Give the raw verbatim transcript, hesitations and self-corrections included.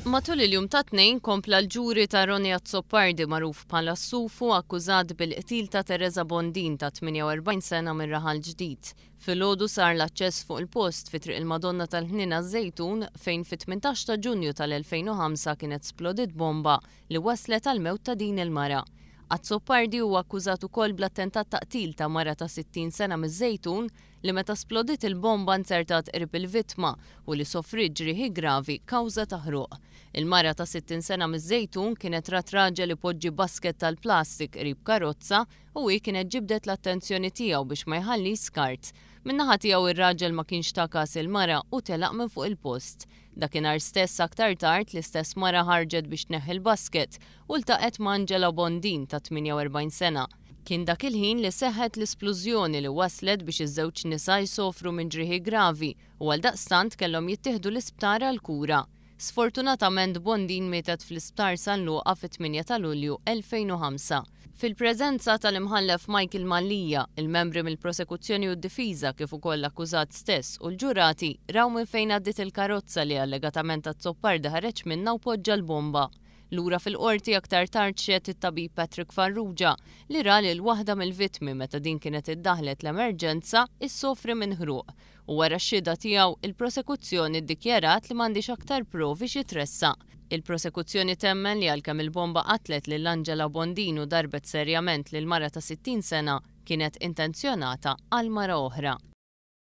Matul il-jum tat-Tnejn kompla l-ġuri ta' Ronnie Azzopardi, magħruf bħala Sufu, akkużat bil-qtil ta' Teresa Bondin ta' tmienja u erbgħin sena minn Raħal Ġdid. Filgħodu sar l-aċċess fuq il-post fi Triq il-Madonna tal-Ħnina Żejtun, fejn fit-tmintax ta' Ġunju tal-elfejn u ħamsa kienet splodit bomba li waslet għal mewt ta' din il-mara. Azzopardi huwa akkużat ukoll bl-attentat ta' qtil ta' mara ta' sittin sena miż-Żejtun li meta splodit il-bomba nzertat qrib il-vittma u li sofrit ġrieħi gravi kawża ta' ħruq. Il-mara ta' sittin sena miż-Żejtun kienet rat raġel ipoġġi basket tal-plastik qrib karozza u hi kienet ġibdet l-attenzjoni tiegħu biex ma jħalli skart. Min-naħa tiegħu, ir-raġel ma kienx ta' kas il-mara u telaq minn fuq il-post. Dakinhar stess, aktar tard, l-istess mara ħarġet biex tneħħi l-basket u ltaqgħet ma' Angela Bondin ta' tmienja u erbgħin sena. Kien dak il-ħin li seħħet l-isplużjoni li waslet biex iż-żewġ nisa jsofru minn ġrieħi gravi u għaldaqstant kellhom jittieħdu l-isptar għal kura. Sfortunatament, Bondin mietet fl-isptar San Luqa fit-tmienja ta' Lulju elfejn u ħamsa. Fil-preżenza tal-imħallef Michael Mallia, il-membri mill-prosekuzzjoni u d-difiża, kif ukoll l-akkużat stess u l-ġurati, raw minn fejn għaddit il-karozza li allegatament Azzopardi ħareġ minna u poġġa l-bomba. Lura fil-qorti aktar tard xehed it-tabib Patrick Farrugia, li ra lil waħda mill-vittmi, meta din kienet iddaħlet l-emerġenza, issofri minn ħruq. U wara x-xhieda tiegħu, il-prosekuzzjoni ddikjarat li m'għandix aktar provi xi tressaq. Il-prosekuzzjoni temmen li għalkemm il-bomba qatlet lil Angela Bondin u darbet serjament lil mara ta' sittin sena, kienet intenzjonata għal mara oħra.